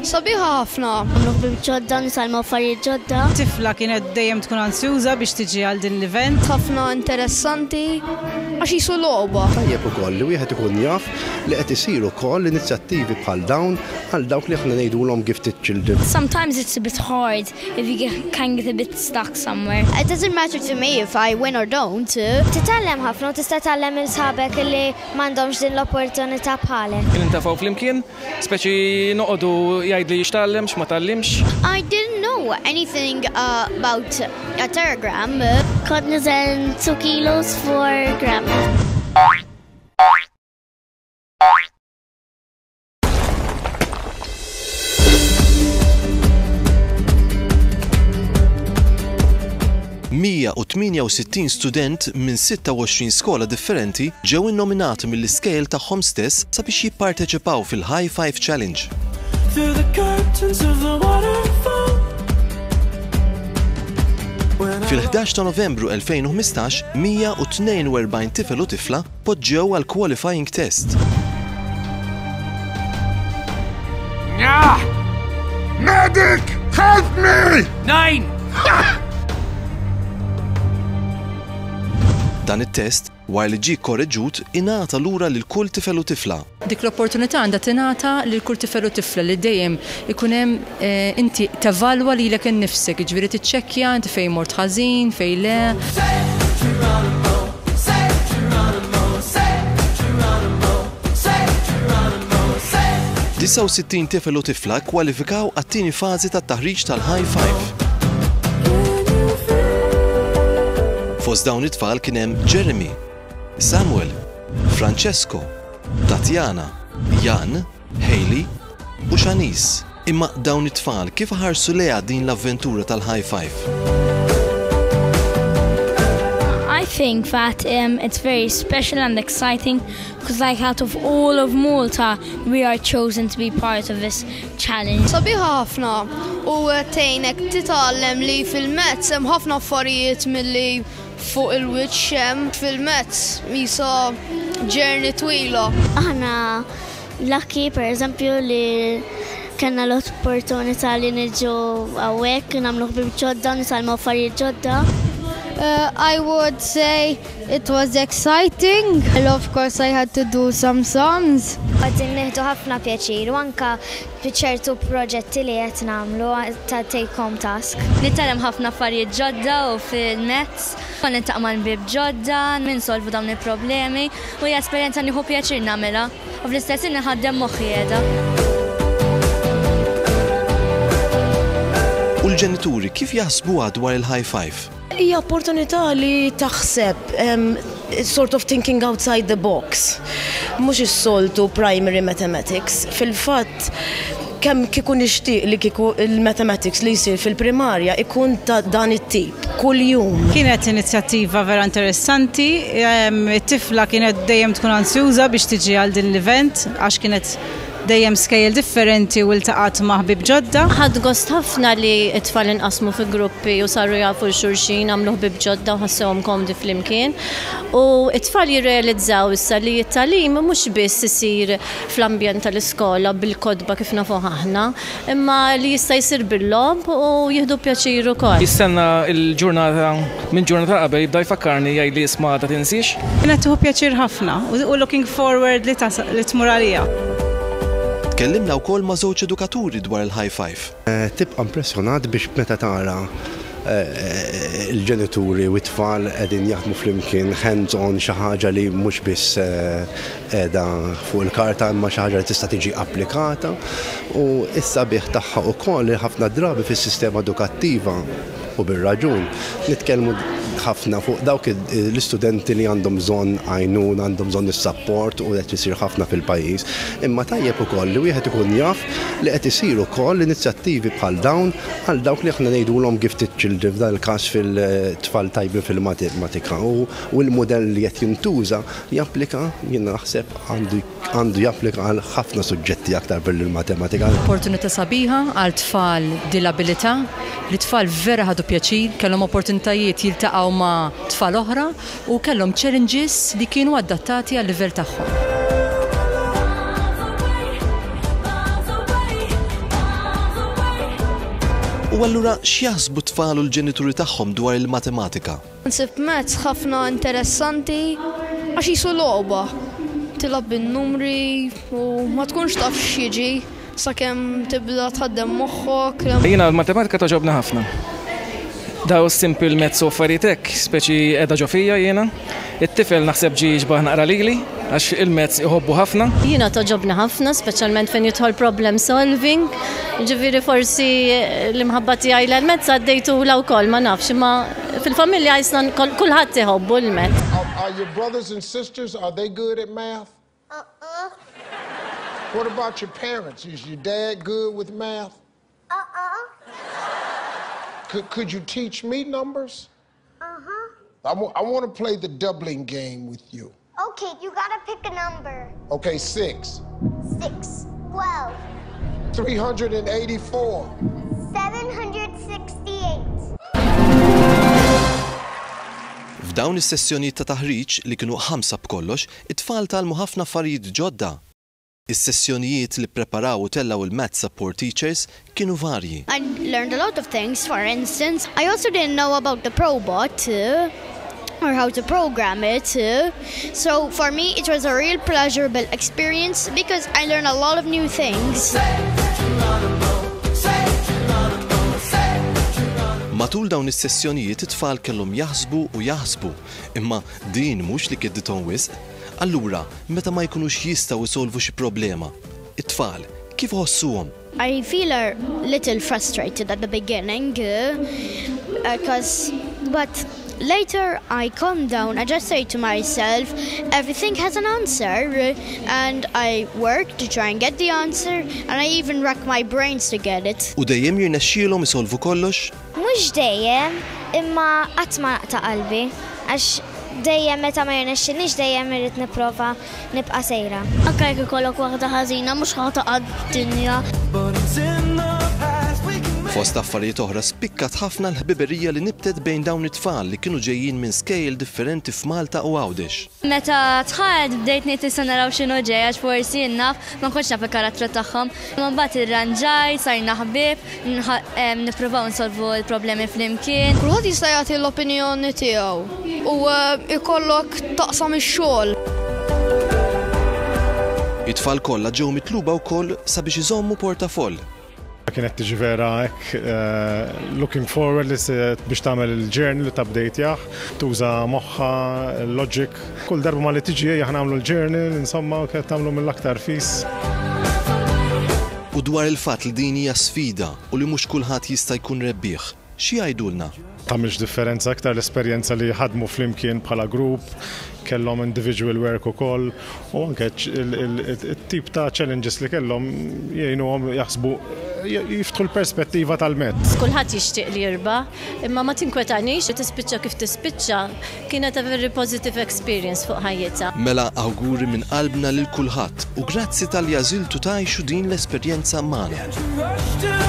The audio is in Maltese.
Sabiħa ħafna. Nagħmlu ħbieb ġodda, nitgħallmu affarijiet ġodda. Tifla kienet dejjem tkun ansjuża biex tiġi għal din l-event. Ħafna interessanti għax qisu logħba. Tajjeb ukoll li wieħed ikun jaf li qed isiru wkoll inizjattivi bħal dawn għal dawk li aħna ngħidulhom gifted children. Sometimes it's a bit hard if you get, can get a bit stuck somewhere. It doesn't matter to me if I win or don't. Titgħallem ħafna u tista' tgħallem lil sħabek li m'għandhomx din l-opportunità bħalek. Nintefgħu flimkien, speċi noqogħdu jgħidli x'tgħallem, x'ma tgħallimx. I didn't know anything uh, about a teragram. Kont niżen 2 kilos 4 gram. ...168 student minn 26 skola differenti ġew innominati mill-iskejjel tagħhom stess sabiex jipparteċipaw fil-High Five Challenge. Fil-11 ta' Novembru 2015, 142 tifel u tifla poġġew għall-qualifying test. Medic! Help me! Nine! Dan it-test, wara li ġie kkoreġut, ingħata lura lil kull tifel u tifla. Dik l-opportunità għandha tingħata lil kull tifel u tifla li dejjem ikun hemm inti tevalwa lilek innifsek, jiġifieri tiċċekkja inti fejn mort ħażin, fejn le. 69 tifel u tifla kkwalifikaw għat-tieni fażi tat-taħriġ tal-High Five. Fost dawn it-tfal kien hemm Jeremy, Samuel, Francesco, Tatiana, Jan, Hailey u Shanice. Imma dawn it-tfal kif ħarsu lejha din l-avventura tal-High Five? I think that um, it's very special and exciting because like out of all of Malta we are chosen to be part of this challenge. Sabiħa ħafna u tgħinek titgħallem li fil-mezz hemm ħafna affarijiet milli fuq il-wiċċ hemm fil-mezz jisa journey twila. Aħna lucky per eżempju li kellna l-opportunità li niġu hawnhekk nagħmlu ħbieb ġodda, nitgħallmu affarijiet ġodda. Uh, I would say it was exciting. And of course I had to do some sums. Qegħdin nieħdu ħafna pjaċir u anka ċertu proġetti li qed nagħmlu ta' take home task. Nitgħallem ħafna affarijiet ġodda u fil-mezz, niltaqa' ma' ħbieb ġodda, ninsolvu dawn il-problemi u hija esperjenza nieħu pjaċir nagħmilha u fl-istess ħin nħaddem moħħi qiegħda. U l-ġenituri kif jaħsbuha dwar il-High Five? Hija opportunità li taħseb um, sort of thinking outside the box. Mhux is-soltu primary mathematics. Fil-fatt kemm kieku nixtieq li kieku il-mathematics li jsir fil-primarja ikun ta' dan it-tip kuljum. Kienet inizjattiva vera interessanti, it-tifla kienet dejjem tkun ansjuża biex tiġi għal din l-event għax kienet dejjem skejjel differenti u ltaqgħet ma' ħbieb ġodda. Ħadt gost ħafna li t-tfal inqasmu fi gruppi u saru jafu 'l xulxin, għamlu ħbieb ġodda u ħassewhom komdi flimkien. U t-tfal jirrealizzaw issa li t-tagħlim mhux biss isir fl-ambjent tal-iskola bil-kotba kif nafuh aħna, imma li jista' jsir bil-logħob u jieħdu pjaċir ukoll. Jistenna l-ġurnata minn ġurnata qabel jibda jfakkarni jgħidli isma' għada tinsiex. Kienet tieħu pjaċir ħafna u looking forward li li tmur għaliha. Tkellimna wkoll ma' żewġ edukaturi dwar il-High Five. Tibqa' impressjonat biex meta tara l-ġenituri u t-tfal qegħdin jaħdmu flimkien hands on xi ħaġa li mhux biss qiegħda fuq il-karta imma xi ħaġa li tista' tiġi applikata u s-sabiħ tagħha wkoll li ħafna drabi fis-sistema edukattiva u bir-raġun nitkellmu ħafna fuq dawk l-istudenti li għandhom bżonn għajnuna, għandhom bżonn is-sapport u qed isir ħafna fil-pajjiż. Imma tajjeb ukoll li wieħed ikun jaf li qed isir ukoll inizjattivi bħal dawn għal dawk li aħna ngħidulhom gifted children f'dan il-każ fil-tfal tajbin fil-matematika u l-mudell li qed jintuża japplika jien naħseb għandu għandu japplika għal ħafna suġġetti aktar mill-matematika. Opportunità sabiħa għal tfal b'dilabilità, li tfal vera ħadu pjaċir, kellhom opportunitajiet jiltaqgħu ma' tfal oħra u kellhom challenges li kienu adattati għal-livell tagħhom. U allura x'jaħsbu t-tfal u l-ġenituri tagħhom dwar il-matematika? Nsib maths ħafna interessanti għax qisu logħba. Tilgħab bin-numri u ma tkunx taf x'jiġi sakemm tibda tħaddem moħħok. Jiena l-matematika togħġobni ħafna. Daw simple maths u affarijiet hekk, speċi qiegħda ġo fija jiena. It-tifel naħseb ġie jixbah naqra lili għax il-maths iħobbu ħafna. Jiena togħġobni ħafna, speċjalment fejn jidħol problem solving. Ġifieri forsi l-imħabba tiegħi l-maths għaddejtulha wkoll, ma nafx, imma fil-familja jisna kulħadd iħobbu l-maths. Are your brothers and sisters, are they good at math? Uh-uh. What about your parents? Is your dad good with math? Uh-uh. Could, could you teach me numbers? Uh-huh. I, I want to play the doubling game with you. Okay, you gotta pick a number. Okay, 6. 6. 12. 384. 768. F'dawn is-sessjonijiet ta' taħriġ, li kienu ħamsa b'kollox, it-tfal tgħallmu ħafna affarijiet ġodda. Is-sessjonijiet li ppreparaw u tellgħu il-Math Support Teachers kienu varji. I learned a lot of things. For instance, I also didn't know about the Probot or how to program it. So for me, it was a real pleasurable experience because I learned a lot of new things. Matul dawn is-sessjonijiet it-tfal kellhom jaħsbu u jaħsbu, imma din mhux li kiddithom wisq. Allura, meta ma jkunux jistgħu isolvu xi problema, it-tfal kif iħossuhom? I feel a little frustrated at the beginning, because, but later I calm down. I just say to myself, everything has an answer, and I work to try and get the answer, and I even rack my brains to get it. U dejjem jirnexxielhom isolvu kollox? Mhux dejjem, imma qatt ma naqta' qalbi, għax dejjem meta ma jirnexxinix dejjem irrid nipprova nibqa' sejra. Anke jekk ikollok waħda ħażina mhux ħa taqa' d-dinja. Fost affarijiet oħra spikkat ħafna l-ħbiberija li nibtet bejn dawn it-tfal li kienu ġejjin minn skejjel differenti f'Malta u Għawdex. Meta dħalt bdejt ngħid issa naraw x'inhu ġej għax forsi jien naf ma kontx naf il-karattru tagħhom. Imma mbagħad irranġajt, sarna ħbieb, nippruvaw nsolvu l-problemi flimkien. Kulħadd jista' jagħti l-opinjoni tiegħu u ikollok taqsam ix-xogħol. It-tfal kollha ġew mitluba wkoll sabiex iżommu portafoll. Kienet tiġi vera hekk looking forward li biex tagħmel il-journal li tabdejtjah, tuża moħħha, logic. Kull darba ma li tiġi aħna nagħmlu l-journal, insomma, kienet tagħmlu mill-aktar fis. U dwar il-fatt li din hija sfida u li mhux kulħadd jista' jkun rebbieħ, xi jgħidulna? Tagħmilx differenza aktar l-esperjenza li ħadmu flimkien bħala grupp, kellhom individual work ukoll u anke it-tip ta' challenges li kellhom jgħinuhom jaħsbu jiftħu l-perspettiva tal-maths. Kulħadd jixtieq li jirbaħ, imma ma tinkwetanix li tispiċċa kif tispiċċa kienet a very positive experience fuq ħajjitha. Mela awguri minn qalbna lil kulħadd u grazzi talli għażiltu tgħixu din l-esperjenza magħna.